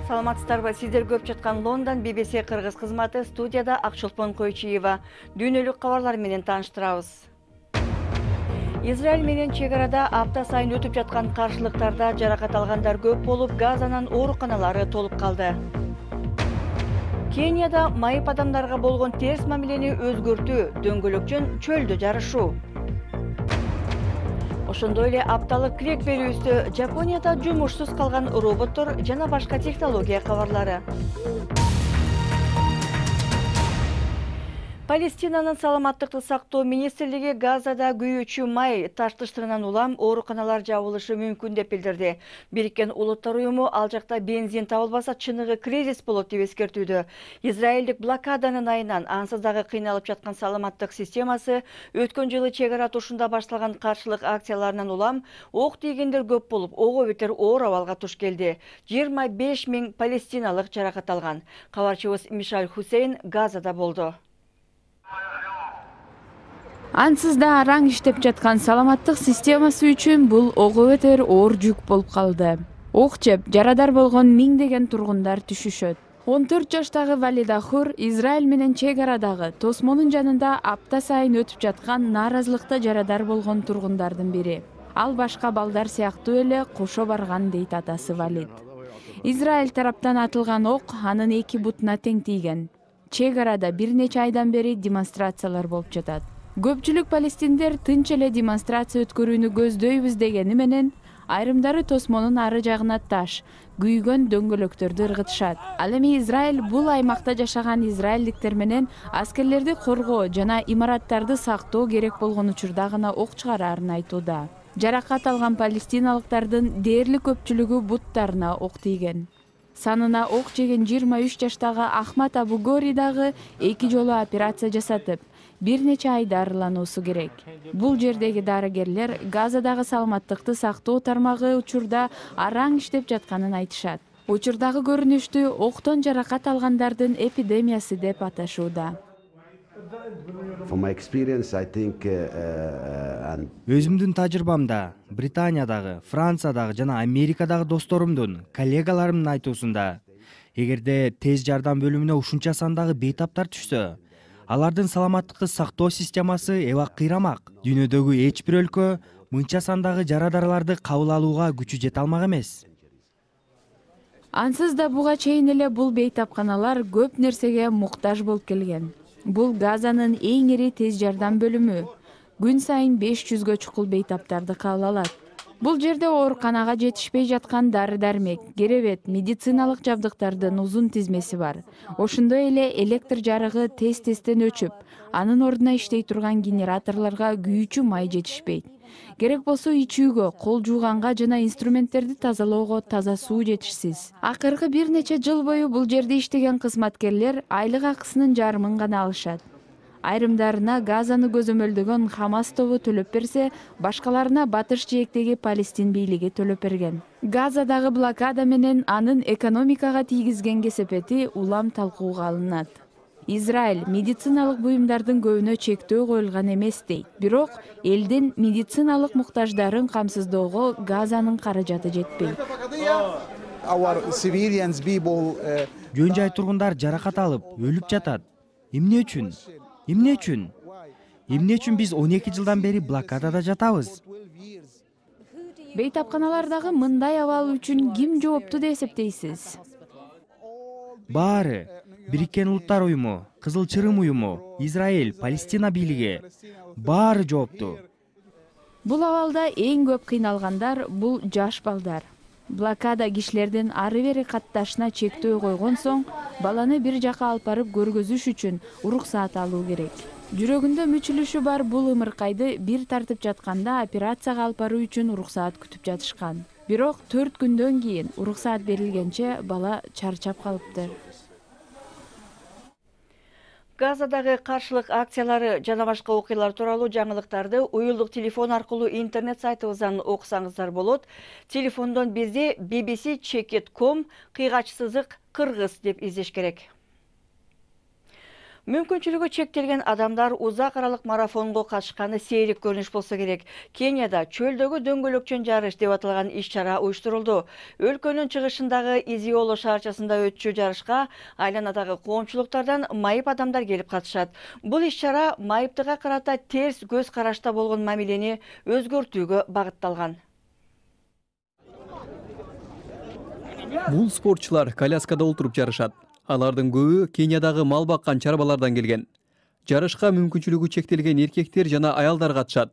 Саламатсыздарбы, сиздер көп жаткан Лондон BBC кыргыз кызматы, студияда Акчолпон Койчиева. Дүйнөлүк кабарлар менен тааныштырабыз. Израиль менен чек арада апта сайын өтүп жаткан каршылыктарда жаракат алгандар көп болуп, Газанын ооруканалары толуп калды. Кенияда майып адамдарга болгон терс мамилени өзгөртүү, дөңгөлөкчөн чөлдө жарышуу. Ошондой эле апталык крек берүүбүздө Жапонияда жумушсуз калган роботтор жана башка технология кабарлары. Палестинанын саламаттыкты сактоо министрлиги Газада күйүүчү май таштыштырынан улам ооруканалар жабылышы мүмкүн деп билдирди. Бириккен Улуттар уюму ал жакта бензин табылбаса чыныгы кризис болот деп эскертүүдө. Израилдик блокаданын айынан ансыз дагы кыйналып жаткан саламаттык системасы өткөн жылы чек ара тушунда башталган каршылык акцияларынан улам ок тийгендер көп болуп, ого бетер оор абалга туш келди. 25 000 палестиналык жаракат алган. Кабарчыбыз Мишаль Хусейн Газада болду. Ансыз да араң иштеп жаткан саламаттык системасы үчүн бул ого бетер оор жүк болуп калды. Ок жеп, жарадар болгон миңдеген тургундар түшүшөт. 14 жаштагы Валида Хур Израиль менен чек арадагы тосмонун жанында апта сайын өтүп жаткан нааразылыкта жарадар болгон тургундардын бири. Ал башка балдар сыяктуу эле кошо барган дейт атасы Валид. Израиль тараптан атылган ок анын эки бутуна тең тийген. Чек арада бир нече айдан бери демонстрациялар болуп жатат. Көпчүлүк палестиндер тынч эле демонстрация өткөрүүнү көздөйбүз дегени менен, айрымдары тосмонун ары жагына таш, күйгөн дөңгөлөктөрдү ыргытышат. Ал эми Израиль бул аймакта жашаган израилдиктер менен аскерлерди коргоо жана имараттарды сактоо керек болгон учурда гана ок чыгараарын айтууда. Жаракат алган палестиналыктардын дээрлик көпчүлүгү буттарына ок тийген. Санына ок жеген 23 жаштагы Ахмад Абу Гори дагы 2 жолу операция жасатып, бир нече ай дарылануусу керек. Бул жердеги дарыгерлер Газадагы саламаттыкты сактоо тармагы учурда араң иштеп жатканын айтышат. Учурдагы көрүнүштү октон жаракат алгандардын эпидемиясы деп аташууда. Өзүмдүн тажрыйбамда Британиядагы, Франциядагы жана Америкадагы досторумдун, коллегаларымдын айтуусунда, эгерде тез жардам бөлүмүнө ушунча сандагы бейтаптар түшсө, алардын саламаттыкты сактоо системасы эбак кыйрамак. Дүйнөдөгү эч бир өлкө мынча сандагы жарадарларды кабыл алууга күчү жете алмак эмес. Ансыз да буга чейин эле бул бейтапканалар көп нерсеге муктаж болуп келген. Бул Газанын эң ири тез жардам бөлүмү. Күн сайын 500гө чукул бейтаптарды кабыл алат. Бул жерде ооруканага жетишпей жаткан дары-дармек, керебет, медициналык жабдыктардын узун тизмеси бар. Ошондой эле электр жарыгы тез-тезден өчүп, анын ордуна иштей турган генераторлорго күйүүчү май жетишпейт. Керек болсо ичүүгө, кол жууганга жана инструменттерди тазалоого таза суу жетишсиз. Акыркы бир нече жыл бою бул жерде иштеген кызматкерлер айлык акысынын жарымын гана алышат. Айрымдарына Газаны көзөмөлдөгөн Хамас тобу төлөп берсе, башкаларына батыш жээктеги Палестин бийлиги төлөп берген. Газадагы блокада менен анын экономикага тийгизген кесепети улам талкууга алынат. Израиль медициналык буюмдардын көбүнө чектөө коюлган эмес дейт. Бирок элдин медициналык муктаждарын камсыздоого Газанын каражаты жетпейт. Жөн жай тургундар жаракат алып, өлүп жатат. Эмне үчүн? Эмне үчүн? Эмне үчүн биз 12 жылдан бери блокадада жатабыз? Бейтапканалардагы мындай абал үчүн ким жоопту деп эсептейсиз? Баары. Бириккен Улуттар уюму, Кызыл Чырым уюму, Израиль, Палестина бийлиги баары жоопту. Бул абалда эң көп кыйналгандар бул жаш балдар. Блокада кишилердин ары-бери катташына чектөө койгон соң, баланы бир жака алып барып көргөзүш үчүн уруксаат алуу керек. Жүрөгүндө мүчүлүшү бар бул ымыркайды бир тартып жатканда операцияга алып баруу үчүн уруксаат күтүп жатышкан. Бирок 4 күндөн кийин уруксаат берилгенче бала чарчап калыптыр. Газадагы каршылык акциялары жана башка окуялар тууралуу жаңылыктарды уюлдук телефон аркылуу интернет сайтыбыздан окусаңыздар болот. Телефондон бизди bbc.com /кыргыз деп издеш керек. Мүмкүнчүлүгү чектелген адамдар узак аралык марафонго катышканы сейрик көрүнүш болсо керек. Кенияда чөлдөгү дөңгөлөкчөн жарыш деп аталган иш-чара уюштурулду. Өлкөнүн чыгышындагы Изиоло шаарчасында өтчү жарышка айланадагы коомчулуктардан майып адамдар келип катышат. Бул иш-чара майыптыга карата терс көз карашта болгон мамилени өзгөртүүгө багытталган. Бул спортчулар коляскада отуруп жарышат. Алардын көбү Кениядагы мал баккан чарбалардан келген. Жарышка мүмкүнчүлүгү чектелген эркектер жана аялдар катышат.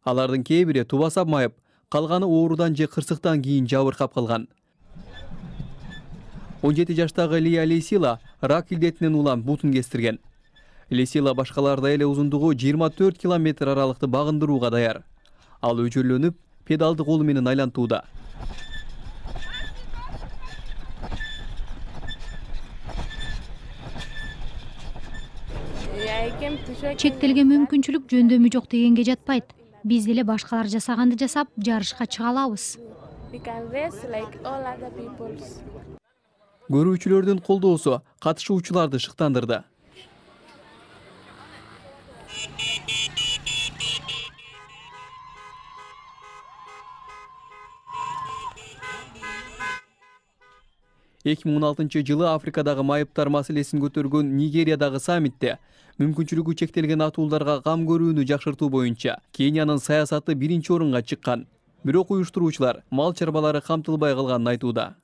Алардын кээ бири тубасап майып, калганы оорудан же кырсыктан кийин жабыркап калган. 17 жаштагы Лия Лесила рак илдетинен улам бутун кестирген. Лесила башкалардай эле узундугу 24 километр аралыкты багындырууга даяр. Ал өчөрлөнүп, педалды колу менен айлантууда. Чектелген мүмкүнчүлүк жөндөмү жок дегенге жатпайт. Биз деле башкалар жасаганды жасап, жарышка чыга алабыз. Көрүүчүлөрдүн колдоосу катышуучуларды шыктандырды. Эки миң 16 жылы Африкадагы майыптар маселесин көтөргөн Нигериядагы саммитте мүмкүнчүлүгү чектелген атууларга кам көрүүнү жакшыртуу боюнча Кениянын саясаты биринчи орунга чыккан. Бирок уюштуруучулар мал чарбалары камтылбай калганын айтууда.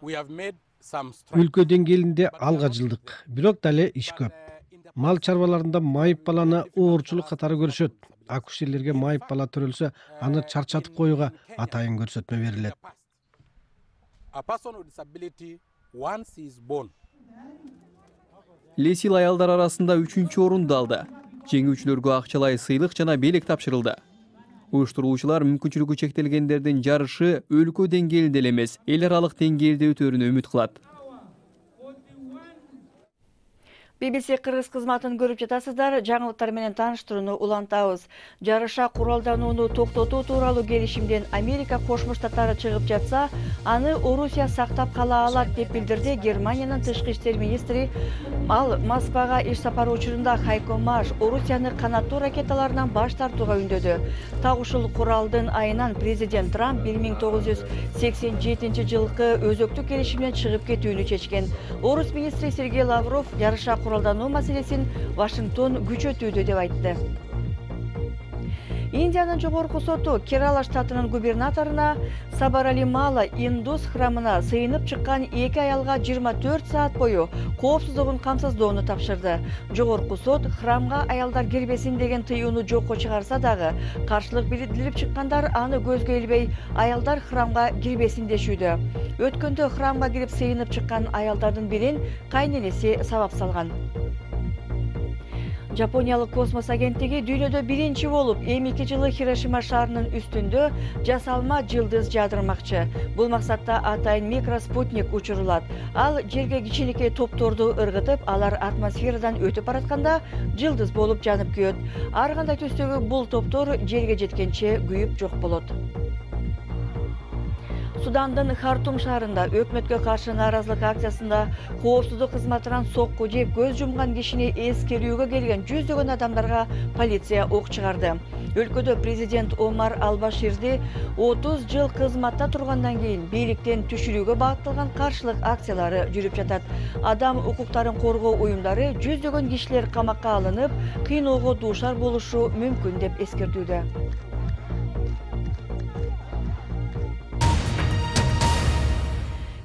Өлкө деңгээлинде алга жылдык, бирок дале иш көп. Мал чарбаларында майып баланы оорчулук катары көрүшөт. Акушерлерге майып бала төрөлсө, аны чарчатып коюуга атайын көрсөтмө берилет. Лесил аялдар арасында 3-чү орунду алды. Жеңүүчүлөргө акчалай сыйлык жана белек тапшырылды. Уюштуруучулар мүмкүнчүлүгү чектелгендердин жарышы өлкө деңгээлинде эле эмес, эл аралык деңгээлде өтөрүнө үмүт кылат. BBC кыргыз кызматын көрүп жатасыздар. Жаңылыктар менен тааныштырууну улантабыз. Жарыша куралданууну токтотуу тууралуу келишимден Америка Кошмо Штаттары чыгып жатса, аны Орусия сактап кала алат деп билдирди Германиянын тышкы иштер министри. Ал Москвага иш сапары учурунда Хайко Маш Орусияны канаттуу ракеталарынан баш тартууга үндөдү. Так ушул куралдын айынан президент Трамп 1987 жылкы өзөктүк келишимден чыгып кетүүнү чечкен. Орус министри Сергей Лавров жарыша куралдануу маселесин Вашингтон күчөтүүдө деп айтты. Индиянын жогорку соту Керала штатынын губернаторуна Сабаралимала Индус храмына сыйынып чыккан 2 аялга 24 саат бою коопсуздугун камсыздоону тапшырды. Жогорку сот храмга аялдар кирбесин деген тыюуну жокко чыгарса дагы, каршылык билдирип чыккандар аны көзгө илбей, аялдар храмга кирбесин дешүүдө. Өткөндө храмга кирип сыйынып чыккан аялдардын бирин кайненеси сабап салган. Жапониялык космос агенттиги дүйнөдө биринчи болуп М2 жылы Хирошима шаарынын үстүндө жасалма жылдыз жаадырмакчы. Бул максатта атайын микроспутник учурулат. Ал жерге кичинекей топторду ыргытып, алар атмосферадан өтүп баратканда жылдыз болуп жанып күйөт. Ар кандай түстөгү бул топтор жерге жеткенче күйүп жок болот. Судандын Хартум шаарында өкмөткө каршы нааразылык акциясында коопсуздук кызматынан сокку жеп көз жумган кишини эскерүүгө келген жүздөгөн адамдарга полиция ок чыгарды. Өлкөдө президент Омар Албаширди 30 жыл кызматта тургандан кийин бийликтен түшүрүүгө багытталган каршылык акциялары жүрүп жатат. Адам укуктарын коргоо уюмдары жүздөгөн кишилер камакка алынып, кыйноого дуушар болушу мүмкүн деп эскертүүдө.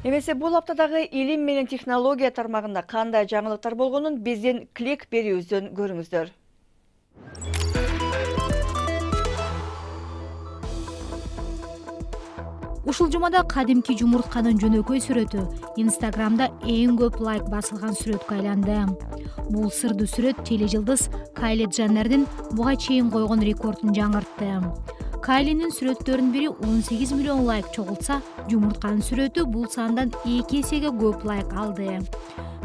Эмесе бул аптадагы илим менен технология тармагында кандай жаңылыктар болгонун биздин клик берүүбүздөн көрүңүздөр. Ушул жумада кадимки жумуртканын жөнөкөй сүрөтү Инстаграмда эң көп лайк басылган сүрөткө айланды. Бул сырдуу сүрөт тележылдыз Кайли Дженнердин буга чейин койгон рекордун жаңыртты. Кайлинин сүрөттөрүнүн бири 18 миллион лайк чогултса, жумуртканын сүрөтү бул сандан 2 эсеге көп лайк алды.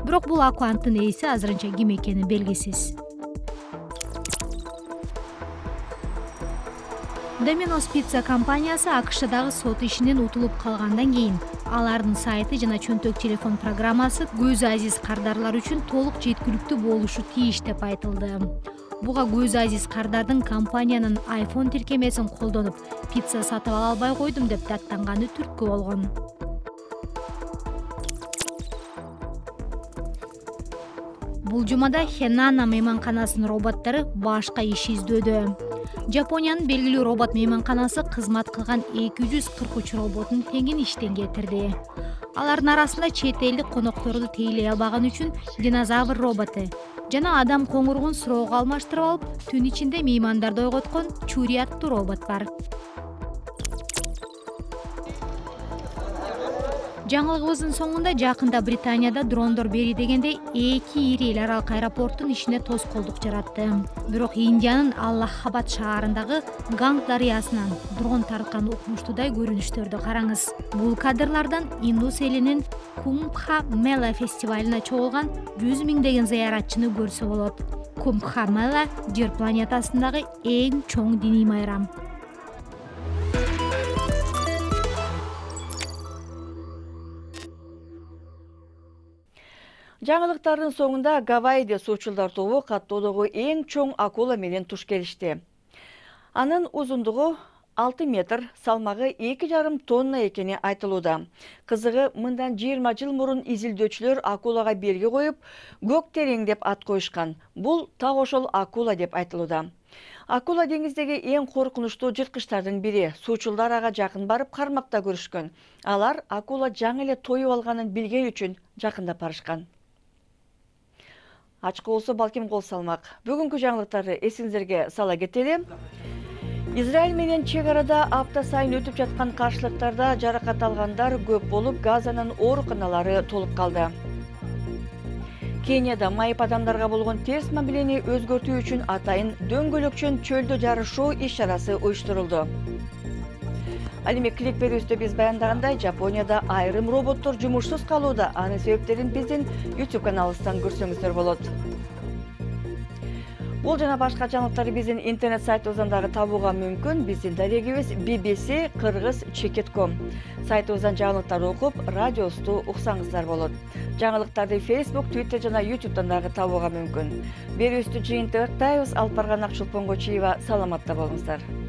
Бирок бул аккаунттун ээси азырынча ким экени белгисиз. Domino's Pizza компаниясы АКШдагы сот ишинен утулуп калгандан кийин алардын сайты жана чөнтөк телефон программасы көзү азиз кардарлар үчүн толук жеткиликтүү болушу тийиш деп айтылды. Буга көзү азиз кардардын компаниянын iPhone тиркемесин колдонуп, пицца сатып ала албай койдум деп даттанганы түрткү болгон. Бул жумада Хенана мейманканасынын роботтору башка иш издөөдө. Жапониянын белгилүү робот мейманканасы кызмат кылган 243 роботун теңин иштен кетирди. Алардын арасында чет элдик конокторду тейлей албаган үчүн динозавр роботу жана адам коңургун суроого алмаштырып алып, түн ичинде меймандарды ойготкон Чури аттуу робот бар. Жаңылыгыбыздын соңунда жакында Британияда дрондор бери дегенде 2 ири эл аралык аэропорттун ишине тоскоолдук жаратты. Бирок Индиянын Аллахабад шаарындагы Ганг дарыясынан дрон тарткан укмуштуудай көрүнүштөрдү караңыз. Бул кадрлардан Индус элинин Кумбха Мела фестивалына чогулган 100 миңдеген зыяратчыны көрсө болот. Кумбха Мела жер планетасындагы эң чоң диний майрам. Жаңылыктардын соңунда Гавайиде суучулдар тобу каттоодогу эң чоң акула менен туш келишти. Анын узундугу 6 метр, салмагы 2,5 тонна экени айтылууда. Кызыгы, мындан 20 жыл мурун изилдөөчүлөр акулага белги коюп, көк терең деп ат коюшкан. Бул так ошол акула деп айтылууда. Акула деңиздеги эң коркунучтуу жырткычтардын бири. Суучулдар ага жакын барып кармакта көрүшкөн. Алар акула жаңы эле тоюп алганын билген үчүн жакындап барышкан. Ачкы болсо балким кол салмак. Бүгүнкү жаңылыктарды эсиңиздерге сала кетели. Израиль менен чек арада апта сайын өтүп жаткан каршылыктарда жаракат алгандар көп болуп, Газанын ооруканалары толуп калды. Кенияда майып адамдарга болгон терс мамилени өзгөртүү үчүн атайын дөңгөлөкчөн чөлдө жарышуу иш-чарасы уюштурулду. Ал эми клик берүүбүздө биз баяндагандай, Жапонияда айрым роботтор жумушсуз калууда. Анын себептерин биздин YouTube каналыбыздан көрсөңүздөр болот. Бул жана башка жаңылыктарды биздин интернет сайтыбыздан дагы табууга мүмкүн. Биздин дарегибиз bbc-cheket.com. Сайтыбыздан жаңылыктарды окуп, радиобузду уксаңыздар болот. Жаңылыктарды Facebook, Twitter жана YouTube'дан дагы табууга мүмкүн. Берүүбүздү жыйынтыктайбыз. Алып барган Акчулпон Кочиева, саламатта болуңуздар.